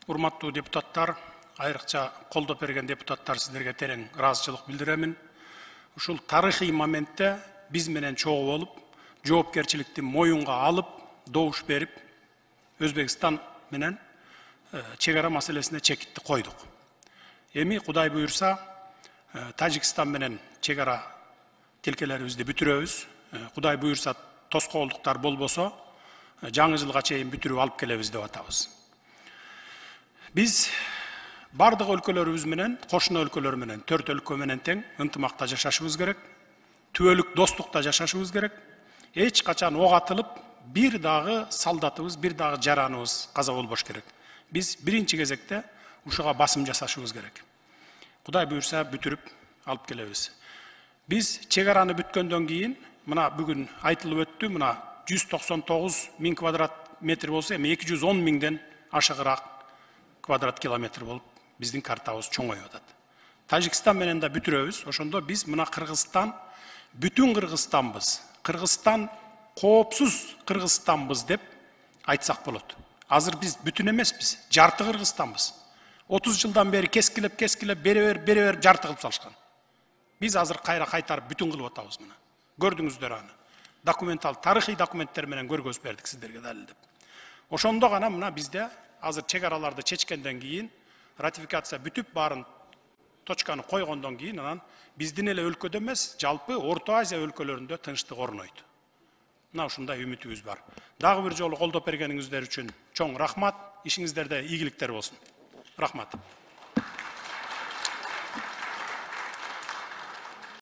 Урматтуу депутаттар, айрыкча колдоп берген депутаттар, сиздерге терең ыраазычылык билдиремин. Ушул тарыхый моментте биз менен чогуу болуп, жоопкерчиликти моюнга алып, добуш берип, Өзбекстан менен чек ара маселесине чекитти койдук. Эми Кудай буйрса, Тажикстан менен чек ара тилкелерибизди бүтүрөбүз. Кудай буйрса, тоскоолдуктар болбосо, жаңы жылга чейин бүтүрүп алып келебиз деп атабыз. Биз бардык өлкөлөрүбүз менен, кошуна өлкөлөр менен, 4 өлкө менен тең ынтымакта жашашыбыз керек. Түбөлүк достукта жашашыбыз керек. Эч качан ок атылып, бир дагы солдатыбыз, бир дагы жараныбыз каза болбош керек. Биз биринчи кезекте ушуга басым жасашыбыз керек. Кудай буйрса бүтүрүп алып келебиз. Биз чек араны бүткөндөн кийин, мына бүгүн айтылып өттү, мына 199 000 квадрат метр болсо, эми 210 000ден ашыгыраак квадрат километр болуп биздин картабыз чоңоюп атат. Тажикстан менен да бүтүрөбүз. Ошондо биз мына Кыргызстан бүтүн Кыргызстанбыз. Кыргызстан коопсуз Кыргызстанбыз деп айтсак болот. Азыр биз бүтүн эмеспиз, жарты Кыргызстанбыз. 30 жылдан бери кескилеп бере жарты кылып салышкан. Биз азыр кайра кайтарып бүтүн кылып атабыз мына. Көрдүңүздөр аны. Документал, тарыхый документтер менен көргөзүп бердик сиздерге далилдеп. Ошондо гана мына бизде азыр чек араларды чечкенден кийин, ратификация бүтүп баарын точканы койгондон кийин, анан биздин эле өлкөдө эмес, жалпы Орто Азия өлкөлөрүндө тынчтык орнойт. Мына ушундай үмүтүбүз бар. Дагы бир жолу колдоп бергениңиздер үчүн чоң рахмат. Ишиңиздерде ийгиликтер болсун. Рахмат.